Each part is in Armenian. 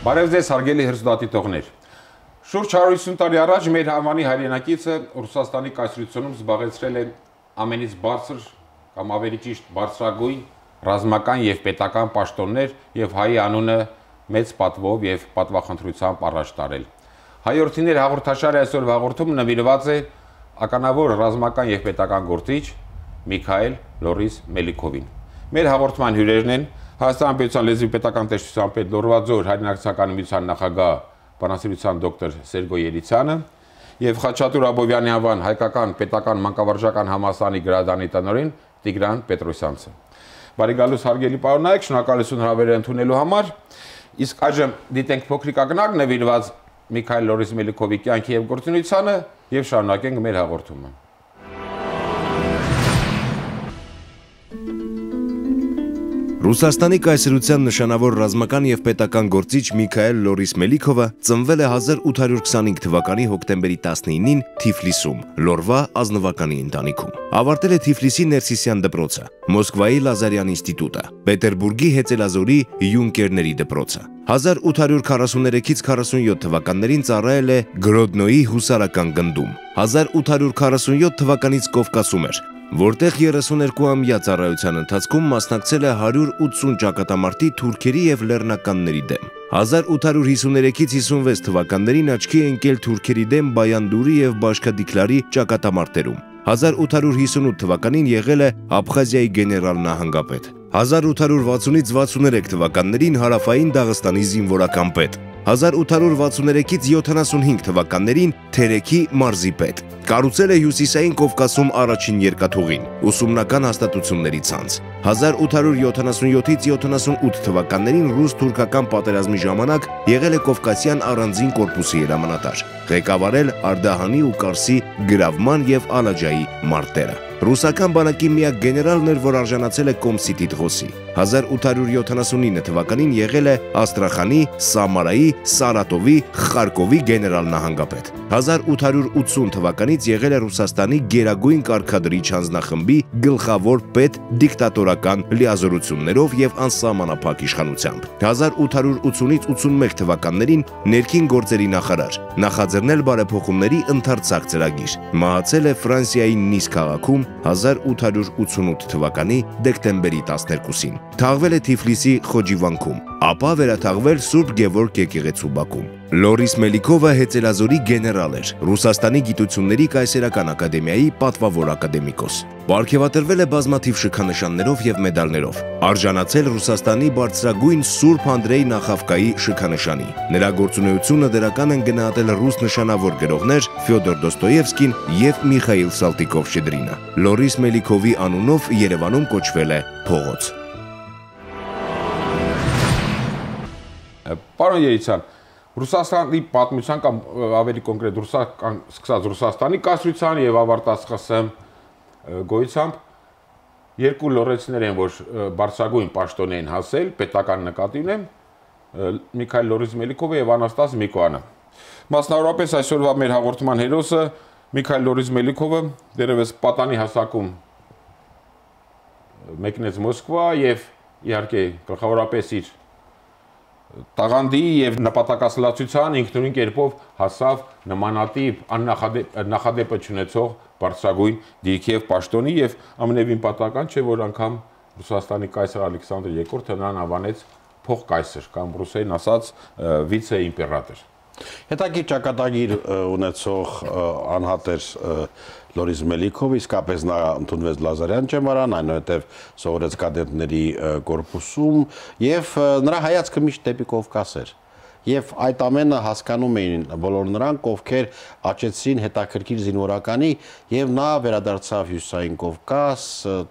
Բարև ձեզ հարգելի հեռուստադիտողներ։ Շուրջ 150 տարի առաջ մեր համանի հայրենակիցը Ռուսաստանի կայսրությունում զբաղեցրել է ամենից բարձր կամ ավելի ճիշտ բարձրագույն ռազմական եւ պետական պաշտոններ եւ հայի անունը մեծ պատվով եւ պատվախնդրությամբ առաջ տարել։ Հայորդիներ հաղորդաշարի այսօր հաղորդում նվիրված է ականավոր ռազմական եւ պետական գործիչ Միքայել Լորիս Մելիքովին։ Մեր հաղորդման հյուրերն են Հայաստան Պետության լեզվի պետական տեսչության պետ Լոռվաձոր հայրենակցական միության նախագահ բանասիրության դոկտոր Սերգո Ելիցյանը եւ Խաչատուր Աբովյանի անվան հայկական պետական մանկավարժական համալսարանի գրադարանի տնօրեն Տիգրան Պետրոսյանցը։ Բարի գալուս հարգելի պարոնայք, շնորհակալություն հավերը ընդունելու համար։ Իսկ այժմ դիտենք փոքրիկ ակնարկ նվիրված Միքայել Լորիս Մելիքովի կյանքի եւ գործունեությանը եւ շարունակենք մեր հաղորդումը։ Ռուսաստանի կայսրության նշանավոր ռազմական եւ պետական գործիչ Միքայել Լորիս Մելիքովը ծնվել է 1825 թվականի հոկտեմբերի 19-ին Թիֆլիսում, Լորվա ազնվականի ընտանիքում։ Ավարտել է Թիֆլիսի Ներսիսյան դպրոցը, Մոսկվայի Լազարյան ինստիտուտը, Պետերբուրգի Հեծելազորի Յունկերների դպրոցը։ 1843-ից 47 թվականներին ծառայել է Գրոդնոյի հուսարական գնդում։ 1847 թվականից Կովկասում էր, որտեղ 32-ամյա ծառայության ընթացքում մասնակցել է 180 ճակատամարտի թուրքերի եւ լեռնականների դեմ։ 1853-ից 56 թվականներին աչքի է ընկել թուրքերի դեմ Բայանդուրի եւ Բաշկադիկլարի ճակատամարտերում։ 1858 թվականին եղել է Աբխազիայի գեներալ նահանգապետ։ 1860-ից 63 թվականներին Հարավային Դաղստանի զինվորական պետ։ 1863-ից 75 թվականներին Թերեքի մարզի պետ։ Կառուցել է Հյուսիսային Կովկասում առաջին երկաթուղին, ուսումնական հաստատությունների ցանց։ 1877-ից 78 թվականներին ռուս-թուրքական պատերազմի ժամանակ եղել է Կովկասյան առանձին կորպուսի հրամանատար, ղեկավարել Արդահանի ու Կարսի գրավման եւ Ալաջայի մարտերը։ Ռուսական բանակի միակ գեներալն էր, որ արժանացել է Կոմսի տիտղոսի։ 1879 թվականին եղել է Աստրախանի, Սամարայի, Սարատովի, Խարկովի գեներալ նահանգապետ։ 1880 թվականից եղել է Ռուսաստանի գերագույն կարգադրիչ հանձնախմբի գլխավոր պետ դիկտատորական լիազորություններով եւ անսահմանափակ իշխանությամբ։ 1880-ից 81 թվականներին ներքին գործերի նախարար, նախաձեռնել բարեփոխումների ընդարձակ ծրագիր։ Մահացել է Ֆրանսիայի Նիս քաղաքում 1888 թվականի դեկտեմբերի 12-ին։ Թաղվել է Թիֆլիսի Խոջիվանքում, ապա վերաթաղվել Սուրբ Գևորգ եկեղեցու բակում։ Լորիս Մելիքովը Հեծելազորի գեներալ էր, Ռուսաստանի գիտությունների կայսերական ակադեմիայի պատվավոր ակադեմիկոս։ Պարգևատրվել է բազմաթիվ շքանշաններով եւ մեդալներով։ Արժանացել Ռուսաստանի բարձրագույն Սուրբ Անդրեյ Նախավկայի շքանշանի։ Նրա գործունեությունը դրական են գնահատել ռուս նշանավոր գրողներ Ֆյոդոր Դոստոևսկին եւ Միխայիլ Սալտիկով-Շչեդրինը։ Լորիս Մելիքովի անունով Երևանում կոչվել է փողոց։ Պարոն Ելիցյան, Ռուսաստանի պատմության կամ ավելի կոնկրետ սկսած Ռուսաստանի կայսրության եւ ավարտած ԽՍՀՄ գոյությամբ երկու լոռեցիներ են, որ բարձրագույն պաշտոն են հասել, պետական նկատի ունեմ, Միքայել Լորիս Մելիքովը եւ Անաստաս Միկոյանը։ Մասնավորապես այսօրվա մեր հաղորդման հերոսը Միքայել Լորիս Մելիքովը դերևս պատանի հասակում մեկնեց Մոսկվա եւ իհարկե գլխավորապես իր տաղանդի եւ նպատակասլացության ինքնուրույն կերպով հասավ նմանատիպ նախադեպը չունեցող բարձրագույն դիրքի եւ պաշտոնի եւ ամենևին պատահական չէ, որ անգամ Ռուսաստանի կայսր Ալեքսանդր II-ը նրան անվանեց փոխկայսր կամ ռուսերեն ասած վիցե-իմպերատոր։ Հետաքրքիր ճակատագիր ունեցող անհատեր Լորիս Մելիքովը իսկապես նա ընդունվեց Լազարյան ճեմարան, այնուհետև սովորեց կադետների կորպուսում եւ նրա հայացքը միշտ դեպի Կովկաս էր։ Եվ այդ ամենը հասկանում էին բոլոր նրանք, ովքեր աճեցրին հետաքրքիր զինվորականի եւ նա վերադարձավ Հյուսիսային Կովկաս,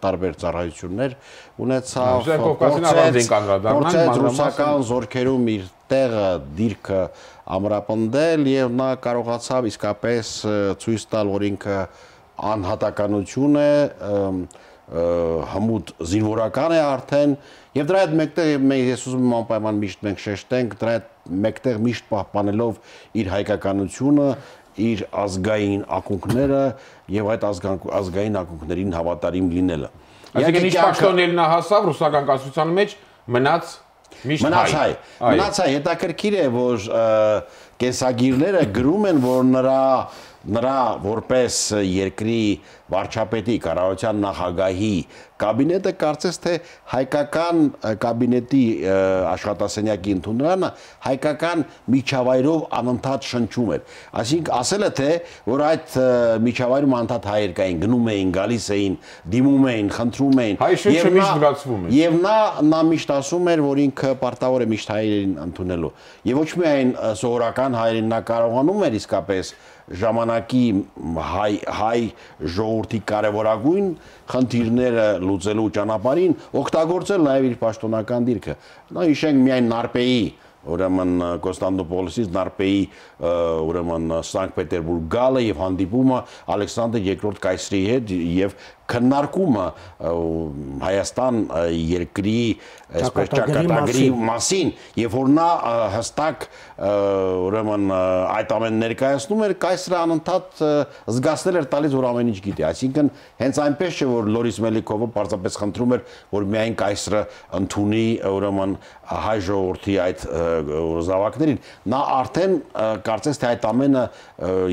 տարբեր ծառայություններ ունեցավ, փորձեց ռուսական զորքերում իր տեղը, դիրքը ամրապնդել եւ նա կարողացավ իսկապես ցույց տալ, որ ինքը անհատականություն է, հմուտ զինվորական է արդեն եւ դրա հետ մեկտեղ ես ուզում եմ անպայման միշտ մենք շեշտենք, դրա հետ մեկտեղ միշտ պահպանելով իր հայկականությունը, իր ազգային ակունքները եւ այդ ազգային ակունքներին հավատարիմ լինելը։ Այսինքն ինչ պաշտոններ նա հասավ ռուսական կայսրության մեջ մնաց Մնաց հայ, հետաքրքիր է, որ կենսագիրները գրում են, որ նրա որպես երկրի վարչապետի, կառավարության նախագահի կաբինետը կարծես թե հայկական կաբինետի աշխատասենյակի ընդունարանը հայկական միջավայրով անընդհատ շնչում էր։ Այսինքն ասել է թե, որ այդ միջավայրում անընդհատ հայեր կային, գնում էին, գալիս էին, դիմում էին, խնդրում էին։ Հայ շնչը միշտ լրացվում էր։ Եվ նա միշտ ասում էր, որ ինքը պարտավոր է միշտ հայերին ընդունելու։ Եվ ոչ միայն սովորական հայերին նա կարողանում էր իսկապես ժամանակի հայ ժողովրդի կարևորագույն խնդիրները լուծելու ճանապարհին օգտագործել նաև իր պաշտոնական դիրքը։ Նա հիշենք միայն Նարպեի, ուրեմն Կոստանդնուպոլիսից Նարպեի ուրեմն Սանկտ Պետերբուրգ գալը եւ հանդիպումը Ալեքսանդր II կայսրի հետ եւ քննարկումը Հայաստան երկրի այսպես ճակատագրի մասին եւ որ նա հստակ ուրեմն այդ ամեն ներկայացնում էր կայսրը անընդհատ զգացնել էր տալիս որ ամեն ինչ գիտի այսինքն հենց այնպես չէ որ Լորիս Մելիքովը պարզապես խնդրում էր որ միայն կայսրը ընդունի ուրեմն հայ ժողովրդի այդ զավակներին նա արդեն կարծես թե այդ ամենը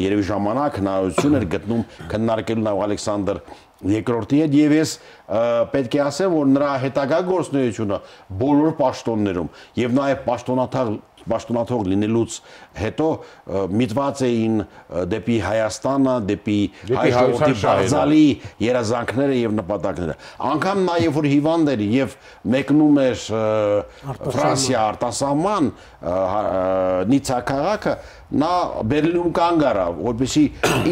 երևի ժամանակ հնարավորություն էր գտնում քննարկելու նաև Ալեքսանդր երկրորդի հետ եւ ես պետք է ասեմ որ նրա հետագա գործունեությունը բոլոր պաշտոններում եւ նաեւ պաշտոնաթող լինելուց հետո միտված էին դեպի Հայաստանը, դեպի հայ ժողովրդի բարձալի երազանքները եւ նպատակները։ Անկամ նաեւ որ հիվանդ էր եւ մեկնում էր Ֆրանսիա արտասահման Նիցա քաղաքը, նա Բերլինում կանգ առավ, որպեսզի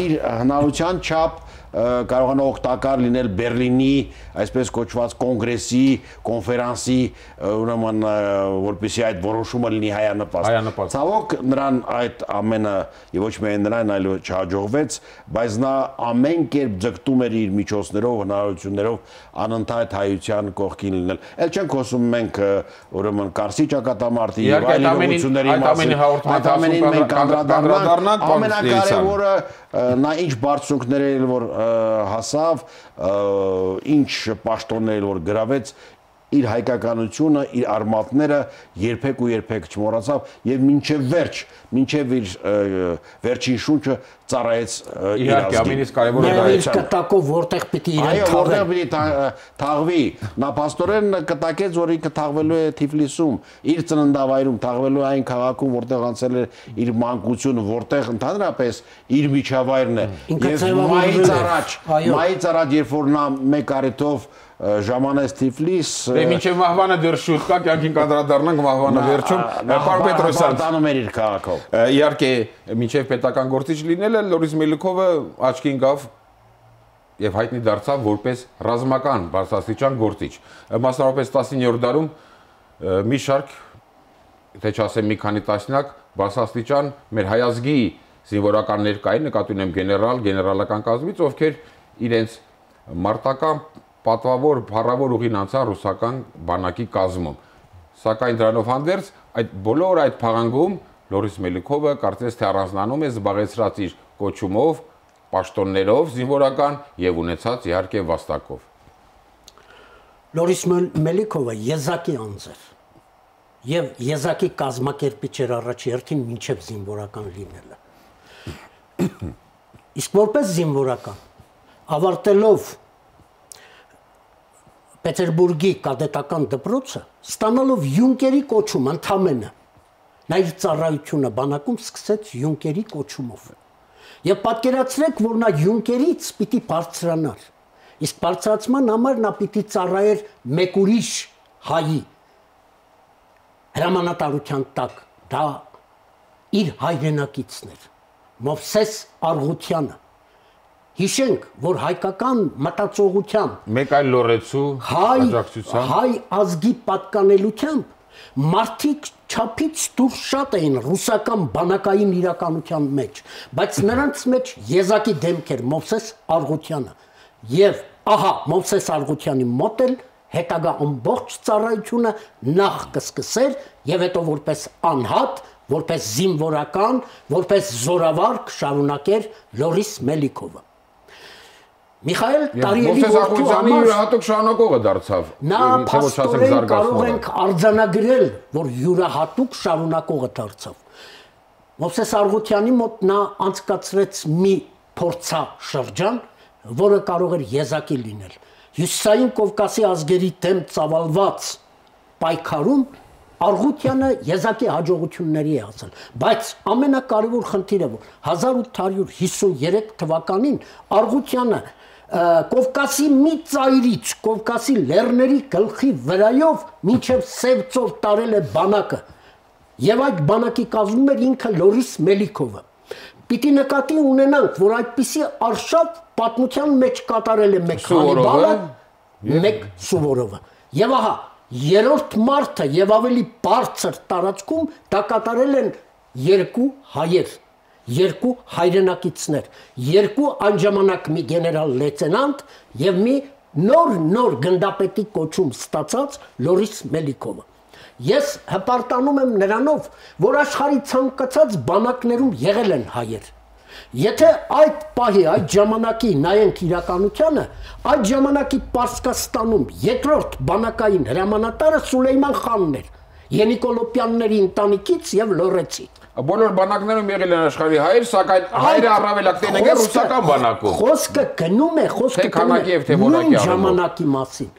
իր հնարավորության չափ կարողանա օգտակար լինել Բերլինի այսպես կոչված կոնգրեսի, կոնֆերանսի, ուրեմն որպեսզի այդ որոշումը լինի հայանպաստ։ Ցավոք նրան այդ ամենը եւ ոչ միայն նրան, այլ չհաջողվեց, բայց նա ամեն կերպ ձգտում էր իր միջոցներով, հնարավորություններով անընդհատ հայության կողքին լինել։ Էլ չենք խոսում մենք ուրեմն Կարսի ճակատամարտի եւ այլ իրողությունների մասին։ Այդ ամենին մենք անդրադառնանք, ամենակարևորը նա ինչ բարձունքներ էր որ հասավ, ինչ պաշտոններ որ գրավեց իր հայկականությունը, իր արմատները երբեք ու երբեք չմոռացավ եւ մինչեւ իր վերջին շունչը ծառայեց իր ազգին։ Իհարկե, ամենից կարևորը դա է։ Իր կտակով որտեղ պիտի իրեն թաղվի։ Այո, որտեղ պիտի թաղվի։ Նա փաստորեն կտակեց, որ ինքը թաղվելու է Թիֆլիսում, իր ծննդավայրում, թաղվելու այն քաղաքում, որտեղ անցել է իր մանկությունը, որտեղ ընդհանրապես իր միջավայրն է։ Եվ մայից առաջ, երբ որ նա մեկ առիթով ժամանեց Թիֆլիս մինչև մահվանը դեռ շուտ կա կյանքին կանդրադառնանք մահվանը վերջում պարոն Պետրոսյան տանում էր իր քաղաքով իհարկե մինչև պետական գործիչ լինելը Լորիս Մելիքովը աչքի ընկավ եւ հայտնի դարձավ որպես ռազմական բարձրաստիճան գործիչ մասնավորապես 19-րդ դարում մի շարք թե չասեմ մի քանի տասնյակ բարձրաստիճան մեր հայազգի զինվորականներ կային նկատի ունեմ գեներալական կազմից ովքեր իրենց մարտական պատվավոր փառավոր ուղին անցան ռուսական բանակի կազմում։ Սակայն դրանով հանդերձ այդ բոլոր այդ փաղանգում Լորիս Մելիքովը կարծես թե առանձնանում է զբաղեցրած իր կոչումով, պաշտոններով զինվորական եւ ունեցած իհարկե վաստակով։ Լորիս Մելիքովը եզակի անձ էր եւ եզակի կազմակերպիչ էր առաջի հերթին մինչեւ զինվորական լինելը։ Իսկ որպես զինվորական ավարտելով Պետերբուրգի կադետական դպրոցը ստանալով յունկերի կոչում ընդամենը նա իր ծառայությունը բանակում սկսեց յունկերի կոչումով եւ պատկերացրեք որ նա յունկերից պիտի բարձրանար իսկ բարձրացման համար նա պիտի ծառայեր մեկ ուրիշ հայի հրամանատարության տակ դա իր հայրենակիցն էր Մովսես Արգուտյանը Հիշենք, որ հայկական մտածողությամբ մեկ այլ լորեցու աջակցությամբ հայ ազգի պատկանելությամբ մարդիկ չափից դուրս շատ էին ռուսական բանակային իրականության մեջ, բայց նրանց մեջ եզակի դեմք էր Մովսես Արգուտյանը եւ ահա Մովսես Արգուտյանի մոտ էլ հետագա ամբողջ ծառայությունը նախ կսկսեր եւ հետո որպես անհատ, որպես զինվորական, որպես զորավար կշարունակեր Լորիս Մելիքովը Միխայել Տարիևի որդու համար յուրահատուկ շարունակողը դարձավ։ Նա փաստորեն կարող ենք արձանագրել, որ յուրահատուկ շարունակողը դարձավ։ Մովսես Արգուտյանի մոտ նա անցկացրեց մի փորձաշրջան, որը կարող էր եզակի լինել։ Հյուսիսային Կովկասի ազգերի դեմ ծավալված պայքարում Արգուտյանը եզակի հաջողությունների է հասել, բայց ամենակարևոր խնդիրը, որ 1853 թվականին Արգուտյանը Կովկասի մի ծայրից, Կովկասի լեռների գլխի վրայով մինչև Սև ծով տարել է բանակը, եւ այդ բանակի կազմում էր ինքը Լորիս Մելիքովը։ Պիտի նկատի ունենանք, որ այդպիսի արշավ պատմության մեջ կատարել է մեկ Հանիբալը, մեկ Սուվորովը։ Եվ ահա երրորդ մարդը եւ ավելի բարձր տարածքում դա կատարել են երկու հայեր, երկու հայրենակիցներ, երկու այն ժամանակ մի գեներալ լեյտենանտ եւ մի նոր գնդապետի կոչում ստացած Լորիս Մելիքովը։ Ես հպարտանում եմ նրանով, որ աշխարհի ցանկացած բանակներում եղել են հայեր։ Եթե այդ պահի, այդ ժամանակի նայենք իրականությանը, այդ ժամանակի Պարսկաստանում երկրորդ բանակային հրամանատարը Սուլեյման խանն էր, Ենիկոլոպյանների ընտանիքից եւ Լորեցի։ Բոլոր բանակներում եղել են աշխարհի հայեր, սակայն հայրը առավելակ տենեգ է ռուսական բանակում։ Խոսքը գնում է, նույն ժամանակի մասին։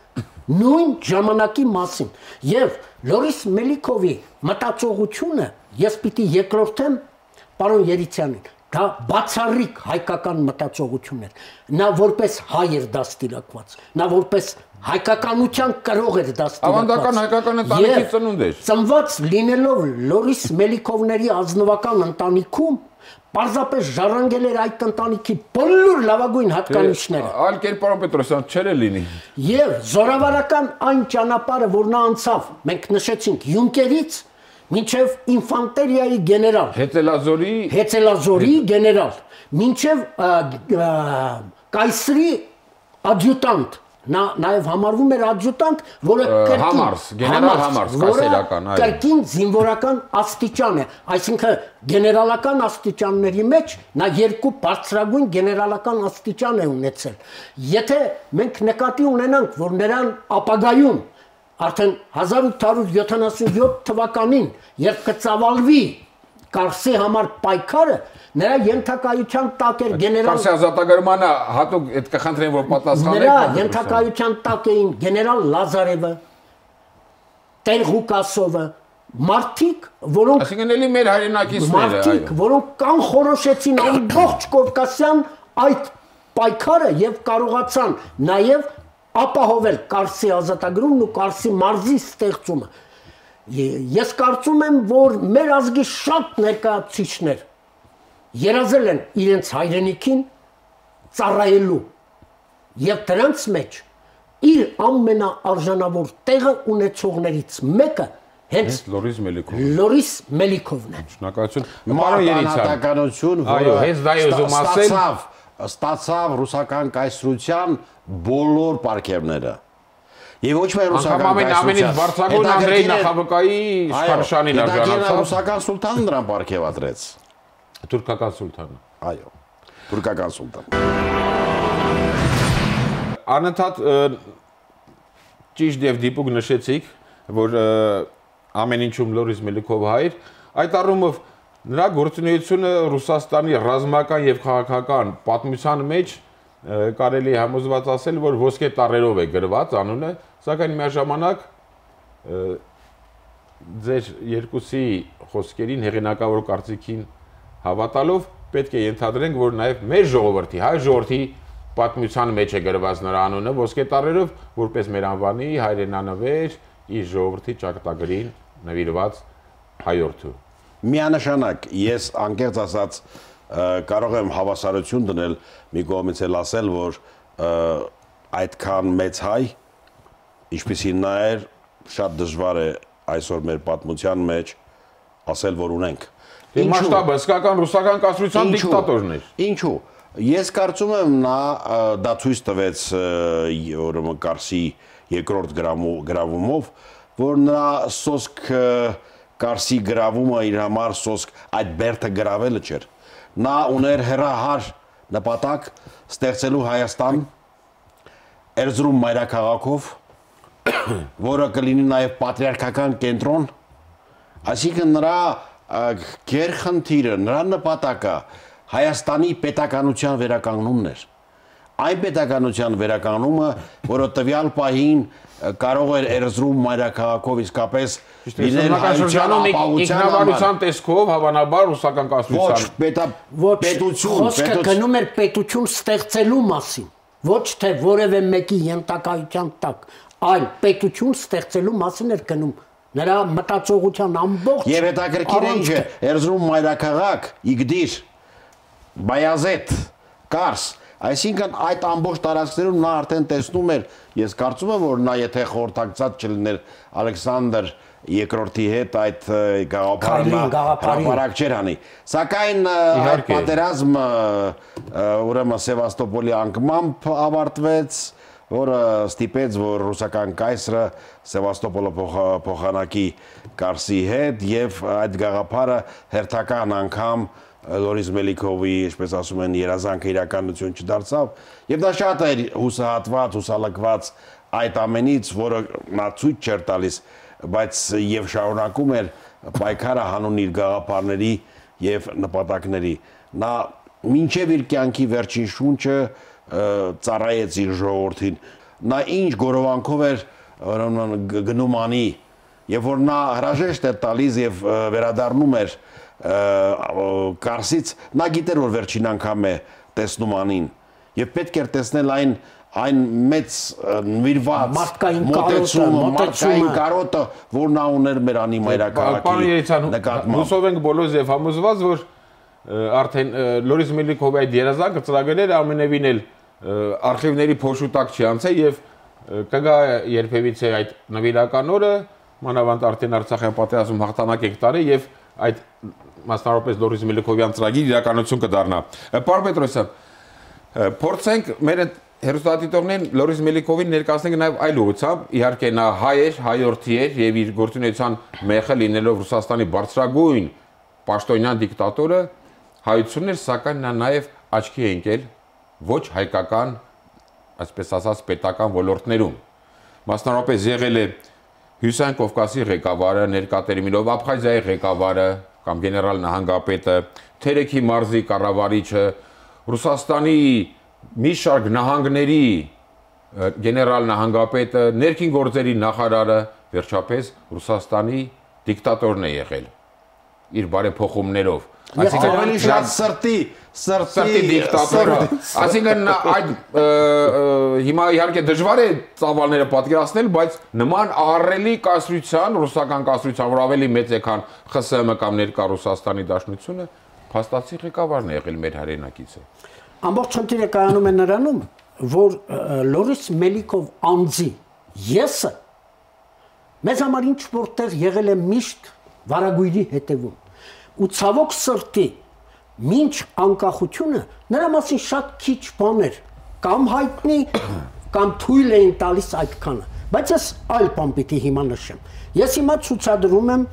Նույն ժամանակի մասին։ Եվ Լորիս Մելիքովի մտածողությունը ես պիտի երկրորդեմ պարոն Երիցյանին։ Դա բացառիկ հայկական մտածողություն էր։ Նա որպես հայ էր դաստիարակված, նա որպես հայկականության կրող էր դաստիարակված։ Ավանդական հայկական ընտանիքի ծնունդ էր։ Ծնված լինելով Լորիս Մելիքովների ազնվական ընտանիքում, պարզապես ժառանգել էր այդ ընտանիքի բոլոր լավագույն հատկանիշները։ Այլ կերպարով Պետրոսյան չէր լինի։ Եվ զորավարական այն ճանապարհը, որ նա անցավ, մենք նշեցինք Յունկերից մինչև ինֆանտերիայի գեներալ, Հեծելազորի գեներալ, մինչև կայսրի ադյուտանտ, նա նաև համարվում էր ադյուտանտ, որը կրկին զինվորական աստիճան է, այսինքն գեներալական աստիճանների մեջ նա երկու բարձրագույն գեներալական աստիճան է ունեցել։ Եթե մենք նկատի ունենանք, որ նրան ապագայում արդեն 1877 թվականին, երբ կծավալվի Կարսի համար պայքարը, նրա ենթակայության տակ էր գեներալ Կարսի ազատագրմանը հատուկ այդ կխնդրեն, որ պատասխանեք։ Նրա ենթակայության տակ էին գեներալ Լազարևը, Տեր Ղուկասովը, մարդիկ, որոնք այսինքն էլի մեր հայրենակիցները, մարդիկ, որոնք կանխորոշեցին ամբողջ Կովկասյան այդ պայքարը եւ կարողացան նաեւ ապահովել Կարսի ազատագրումն ու Կարսի մարզի ստեղծումը։ Ես կարծում եմ, որ մեր ազգի շատ ներկայացուցիչներ երազել են իրենց հայրենիքին ծառայելու եւ դրանց մեջ իր ամենաարժանավոր տեղը ունեցողներից մեկը հենց Լորիս Մելիքովն է։ Շնորհակալություն։ Մարտահրավերություն, որը հենց դա ուզում ասել, ստացավ ռուսական կայսրության բոլոր պարգևները։ Եվ ոչ միայն ռուսական ամենից բարձրագույն Անդրեյ Նախավկայի իշխանությանին արժանացավ։ Ռուսական սուլտանը նրան պարգևատրեց։ Թուրքական սուլտանը։ Այո, թուրքական սուլտան։ Անընդհատ ճիշտ եւ դիպուկ նշեցիք, որ ամեն ինչում Լորիս Մելիքով հայր, այդ առումով նրա գործունեությունը Ռուսաստանի ռազմական եւ քաղաքական պատմության մեջ կարելի է համոզված ասել, որ ոսկե տառերով է գրված անունը, սակայն միաժամանակ ձեր երկուսի խոսքերին հեղինակավոր կարծիքին հավատալով պետք է ենթադրենք, որ նաև մեր ժողովրդի, հայ ժողովրդի պատմության մեջ է գրված նրա անունը ոսկե տառերով, որպես մեր անվանի հայրենանվեր իր ժողովրդի ճակատագրին նվիրված հայորդու։ Միանշանակ ես անկեղծ ասած կարող եմ հավասարություն դնել մի կողմից էլ ասել, որ այդքան մեծ հայ, ինչպիսին նա էր, շատ դժվար է այսօր մեր պատմության մեջ ասել, որ ունենք։ Մասշտաբը հսկական ռուսական կայսրության դիկտատորն էր։ Ինչու։ Ես կարծում եմ նա դա ցույց տվեց ուրեմն Կարսի երկրորդ գրավումով, որ նա սոսկ Կարսի գրավումը իր համար սոսկ այդ բերդը գրավելը չէր։ Նա ուներ հերահար նպատակ ստեղծելու Հայաստան Էրզրում մայրաքաղաքով, որը կլինի նաև պատրիարքական կենտրոն, այսինքն նրա գերխնդիրը, նրա նպատակը Հայաստանի պետականության վերականգնումն էր։ Այն պետականության վերականգնումը, որը տվյալ պահին կարող էր Էրզրում մայրաքաղաքով իսկապես լինել հայության ինքնավարության տեսքով հավանաբար ռուսական կառավարության պետություն, խոսքը գնում էր պետություն ստեղծելու մասին, ոչ թե որևէ մեկի ենթակայության տակ, այլ պետություն ստեղծելու մասին էր գնում։ Նրա մտածողության ամբողջ եւ հետաքրքիր է ինչ է, Էրզրում մայրաքաղաք, Իգդիր, Բայազետ, Կարս, այսինքն այդ ամբողջ տարածքներում նա արդեն տեսնում էր, ես կարծում եմ, որ նա եթե խորհրդակցած չլիներ Ալեքսանդր II-ի հետ այդ գաղափարակ չէր անի։ Սակայն այդ պատերազմը ուրեմն Սևաստոպոլի անկմամբ ավարտվեց, որը ստիպեց, որ ռուսական կայսրը Սևաստոպոլը փոխանակի Կարսի հետ եւ այդ գաղափարը հերթական անգամ Լորիս Մելիքովի, ինչպես ասում են, երազանքը իրականություն չդարձավ, եւ դա շատ էր հուսահատված, հուսալքված այդ ամենից, որը նա ցույց չէր տալիս, բայց եւ շարունակում էր պայքարը հանուն իր գաղափարների եւ նպատակների։ Նա մինչեւ իր կյանքի վերջին շունչը ծառայեց իր ժողովրդին։ Նա ինչ գորովանքով էր գնում անի, եւ որ նա հրաժեշտ էր տալիս եւ վերադառնում էր Կարսից, նա գիտեր, որ վերջին անգամ է տեսնում անին եւ պետք էր տեսնել այն մեծ նվիրված մարդկային կարոտը, որ նա ուներ մեր անի մայրաքաղաքի նկատմամբ։ Հուսով ենք բոլորս եւ համոզված, որ արդեն Լորիս Մելիքովի այդ երազանքը ծրագրերը ամենևին էլ արխիվների փոշուտակ չի անցել եւ կգա երբևիցե այդ նվիրական օրը, մանավանդ արդեն Արցախյան պատերազմում հաղթանակ եք տարել եւ այդ մասնավորապես Լորիս Մելիքովյան ծրագիր իրականություն կդառնա։ Պարոն Պետրոսյան, փորձենք մեր հերոստատիտողներին Լորիս Մելիքովին ներկայացնենք նաև այլ ուղղությամբ, իհարկե նա հայ էր, հայորդի էր եւ իր գործունեության մեխը լինելով Ռուսաստանի բարձրագույն պաշտոնյան դիկտատորը, հայությունն էր, սակայն նա նաև աչքի է ընկել ոչ հայկական, այսպես ասած, պետական ոլորտներում։ Մասնավորապես եղել է Հյուսային Կովկասի ղեկավարը, ներկա տերմինով Աբխազիայի ղեկավարը կամ գեներալ նահանգապետը, Թերեքի մարզի կառավարիչը, Ռուսաստանի մի շարք նահանգների գեներալ նահանգապետը, ներքին գործերի նախարարը, վերջապես Ռուսաստանի դիկտատորն է եղել իր բարեփոխումներով։ Այսինքն շատ սրտի դիկտատորը, այսինքն այդ հիմա իհարկե դժվար է ծավալները պատկերացնել, բայց նման ահռելի կայսրության, ռուսական կայսրության, որ ավելի մեծ է, քան ԽՍՀՄ կամ ներկա Ռուսաստանի Դաշնությունը, փաստացի ղեկավարն է եղել մեր հայրենակիցը։ Ամբողջ խնդիրը կայանում է նրանում, որ Լորիս Մելիքով անձի եսը մեզ համար ինչ որտեղ եղել է միշտ վարագույրի հետևում։ Ու ցավոք սրտի մինչ անկախությունը նրա մասին շատ քիչ բաներ կամ հայտնի կամ թույլ էին տալիս այդքանը, բայց ես այլ բան պիտի հիմա նշեմ։ Ես հիմա ցուցադրում եմ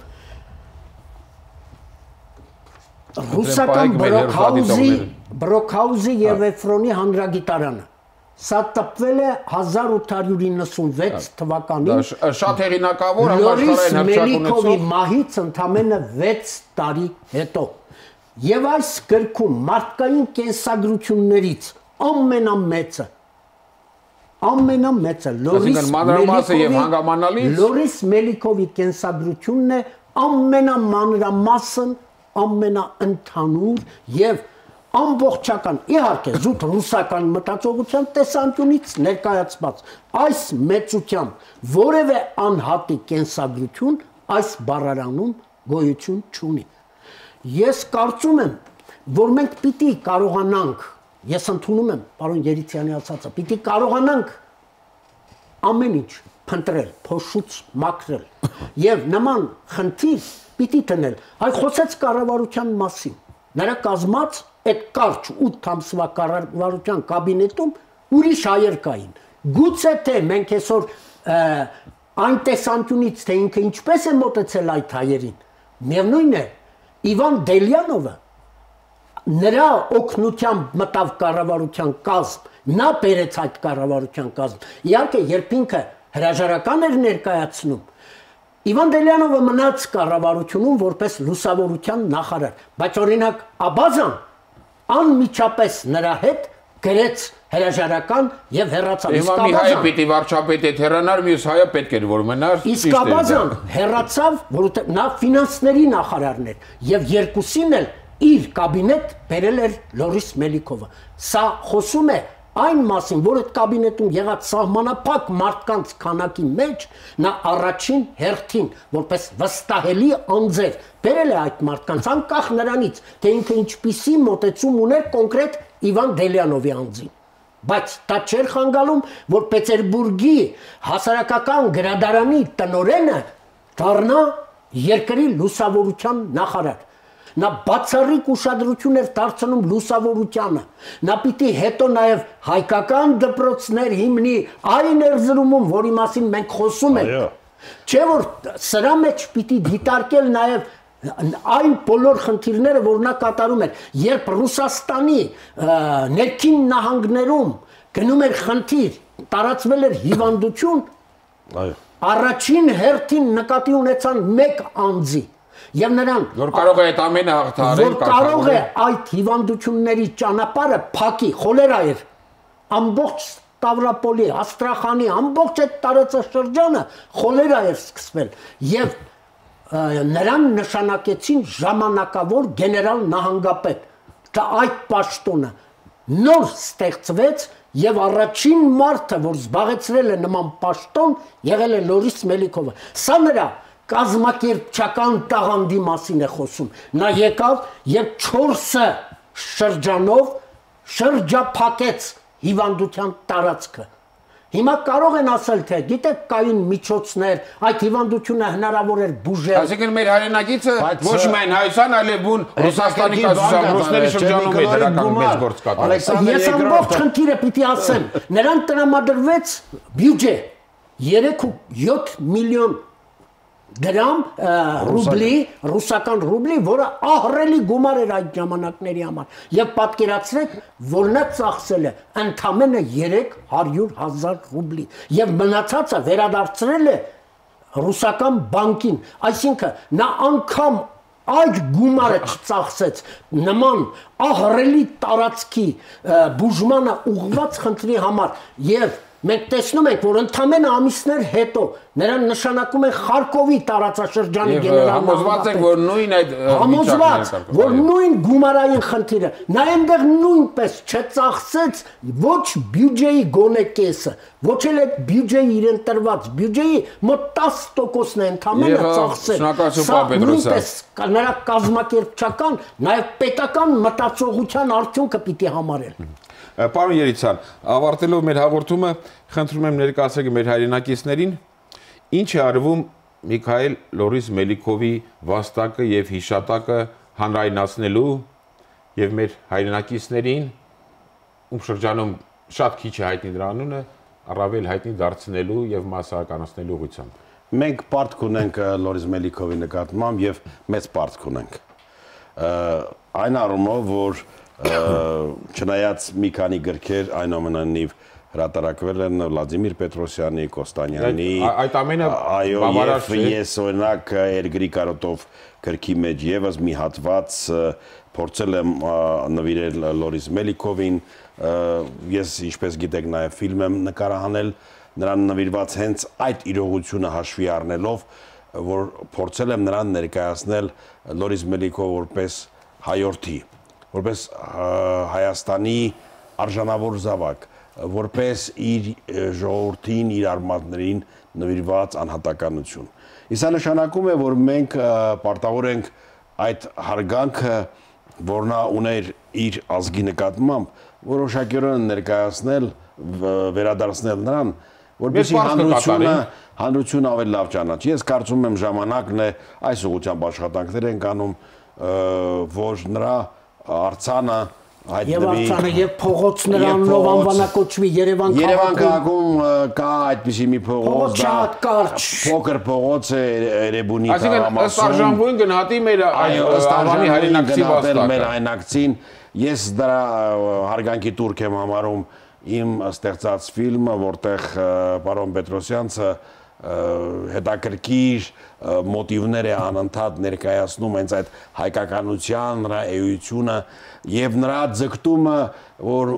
ռուսական Բրոքհաուզի եւ Էֆրոնի հանրագիտարանը։ Սա տպվել է 1896 թվականին։ Շատ հեղինակավոր Լորիս Մելիքովի մահից ընդամենը 6 տարի հետո։ Եվ այս գրքում մարդկային կենսագրություններից ամենամեծը Լորիս Մելիքովի կենսագրությունն է, ամենամանրամասն, ամենաընդհանուր եւ ամբողջական, իհարկե զուտ ռուսական մտածողության տեսանկյունից ներկայացված այս մեծությամբ որևէ անհատի կենսագրություն այս բառարանում գոյություն չունի։ Ես կարծում եմ, որ մենք պիտի կարողանանք, ես ընդունում եմ պարոն Երիցյանի ասածը, պիտի կարողանանք ամեն ինչ փնտրել, փոշուց մաքրել եւ նման խնդիր պիտի տնել։ Այ խոսեց կառավարության մասին։ Նրա կազմած այդ կարճ 8 ամսվա կառավարության կաբինետում ուրիշ հայեր կային։ Գուցե թե մենք այսօր այն տեսանկյունից, թե ինքը ինչպես է մոտեցել այդ հայերին, միևնույն է, Իվան Դելյանովը նրա օգնությամբ մտավ կառավարության կազմ, նա բերեց այդ կառավարության կազմ։ Իհարկե, երբ ինքը հրաժարական էր ներկայացնում, Իվան Դելյանովը մնաց կառավարությունում որպես լուսավորության նախարար, բայց օրինակ Աբազան անմիջապես նրա հետ գրեց հրաժարական եւ հեռացավ։ Հիմա մի հայը պիտի վարչապետ է հեռանար, մյուս հայը պետք էր որ մնար։ Իսկ Աբազան հեռացավ, որովհետեւ նա ֆինանսների նախարարն էր եւ երկուսին էլ իր կաբինետ բերել էր Լորիս Մելիքովը։ Սա խոսում է այն մասին, որ այդ կաբինետում եղած սահմանափակ մարդկանց քանակի մեջ նա առաջին հերթին որպես վստահելի անձեր բերել է այդ մարդկանց անկախ նրանից, թե ինքը ինչպիսի մոտեցում ուներ կոնկրետ Իվան Դելյանովի անձին։ Բայց դա չէր խանգարում, որ Պետերբուրգի հասարակական գրադարանի տնօրենը դառնա երկրի լուսավորության նախարար։ Նա բացառիկ ուշադրություն էր դարձնում լուսավորությանը։ Նա պիտի հետո նաև հայկական դպրոցներ հիմնի այն Էրզրումում, որի մասին մենք խոսում ենք։ Չէ՞ որ սրա մեջ պիտի դիտարկել նաև այն բոլոր խնդիրները, որ նա կատարում էր, երբ Ռուսաստանի ներքին նահանգներում գնում էր խնդիր, տարածվել էր հիվանդություն, առաջին հերթին նկատի ունեցան մեկ անձի եւ նրան որ կարող է այդ ամենը հաղթահարել, որ կարող է այդ հիվանդությունների ճանապարհը փակի, խոլերա էր ամբողջ Ստավրապոլի, Աստրախանի ամբողջ այդ տարածաշրջանը խոլերա էր սկսվել եւ նրան նշանակեցին ժամանակավոր գեներալ նահանգապետ։ Դա այդ պաշտոնը նոր ստեղծվեց եւ առաջին մարդը, որ զբաղեցրել է նման պաշտոն, եղել է Լորիս Մելիքովը։ Սա նրա կազմակերպչական տաղանդի մասին է խոսում։ Նա եկավ եւ 4 շրջանով շրջափակեց հիվանդության տարածքը։ Հիմա կարող են ասել, թե գիտեք կային միջոցներ, այդ հիվանդությունը հնարավոր էր բուժել։ Այսինքն մեր հայրենակիցը ոչ միայն Հայաստան, այլև բուն Ռուսաստանի կազմակերպության ռուսների շրջանում է դրական մեծ գործ կատարել։ Ես ամբողջ խնդիրը պիտի ասեմ, նրան տրամադրվեց բյուջե 3.7 միլիոն դրամ ռուբլի, ռուսական ռուբլի, որը ահռելի գումար էր այդ ժամանակների համար։ Եվ պատկերացրեք, որ նա ծախսել է ընդամենը 300,000 ռուբլի եւ մնացածը վերադարձրել է ռուսական բանկին, այսինքն նա անգամ այդ գումարը չծախսեց նման ահռելի տարածքի բուժմանը ուղղված խնդրի համար եւ մենք տեսնում ենք, որ ընդամենը ամիսներ հետո նրան նշանակում են Խարկովի տարածաշրջանի գեներալ համոզված ենք, որ նույն այդ համոզված, որ նույն գումարային խնդիրը նա այնտեղ նույնպես չծախսեց ոչ բյուջեի գոնե կեսը, ոչ էլ այդ բյուջեի իրեն տրված բյուջեի մոտ 10%-ն է ընդամենը ծախսել։ Սա նույնպես նրա կազմակերպչական, նաև պետական մտածողության արդյունքը պիտի համարել։ Պարոն Երիցյան, ավարտելով մեր հաղորդումը, խնդրում եմ ներկայացրեք մեր հայրենակիցներին, ինչ է արվում Միքայել Լորիս Մելիքովի վաստակը եւ հիշատակը հանրայնացնելու եւ մեր հայրենակիցներին, ում շրջանում շատ քիչ է հայտնի դրա անունը, առավել հայտնի դարձնելու եւ մասսայականացնելու ուղղությամբ։ Մենք պարտք ունենք Լորիս Մելիքովի նկատմամբ եւ մեծ պարտք ունենք։ Այն առումով, որ չնայած մի քանի գրքեր այնուամենայնիվ հրատարակվել են Վլադիմիր Պետրոսյանի, Կոստանյանի, այդ ամենը բավարար չէ։ Ես օրինակ երկրի կարոտով գրքի մեջ եւս մի հատված փորձել եմ նվիրել Լորիս Մելիքովին, ես ինչպես գիտեք նաեւ ֆիլմ եմ նկարահանել նրան նվիրված հենց այդ իրողությունը հաշվի առնելով, որ փորձել եմ նրան ներկայացնել Լորիս Մելիքով որպես հայորդի, որպես Հայաստանի արժանավոր զավակ, որպես իր ժողովրդին, իր արմատներին նվիրված անհատականություն։ Իսկ նշանակում է, որ մենք պարտավոր ենք այդ հարգանքը, որ նա ուներ իր ազգի նկատմամբ, որոշակիորեն ներկայացնել, վերադարձնել նրան, որպեսզի հանրությունը ավելի լավ ճանաչի։ Ես կարծում եմ ժամանակն է այս ուղղությամբ աշխատանքներ ենք անում, որ նրա արձանը Եվ արցանը եւ փողոց նրանով անվանակոչվի Երևան քաղաքում կա այդպիսի մի փողոց, փոքր փողոց է Էրեբունի քաղաքում։ Այսինքն ըստ արժանվույն գնահատի մեր Անվանի հայրենակցի վաստակը։ Մեր հայրենակցին ես դրա հարգանքի տուրք եմ համարում իմ ստեղծած ֆիլմը, որտեղ պարոն Պետրոսյանցը հետաքրքիր մոտիվներ է անընդհատ ներկայացնում հենց այդ հայկականության, նրա էությունը եւ նրա ձգտումը, որ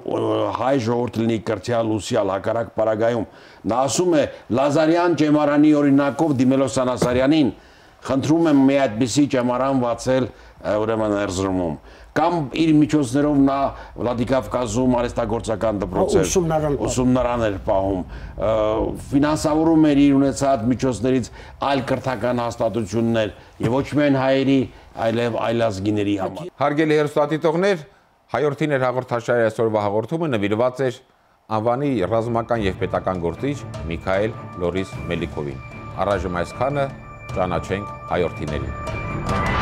հայ ժողովուրդը լինի կրթյալ, ուսյալ, հակառակ պարագայում։ Նա ասում է Լազարյան ճեմարանի օրինակով դիմելով Սանասարյանին, խնդրում եմ մի այդպիսի ճեմարան բացել ուրեմն Էրզրումում։ Կամ իր միջոցներով նա Վլադիկավկազում արհեստագործական դպրոցեր ուսումնարան էր պահում, ֆինանսավորում էր իր ունեցած միջոցներից այլ կրթական հաստատություններ եւ ոչ միայն հայերի, այլև այլազգիների համար։ Հարգելի հեռուստադիտողներ, Հայորդին էր հաղորդաշարի այսօրվա հաղորդումը նվիրված էր Անվանի ռազմական եւ պետական գործիչ Միքայել Լորիս Մելիքովին։ Առայժմ այսքանը, ճանաչենք Հայորդիներին։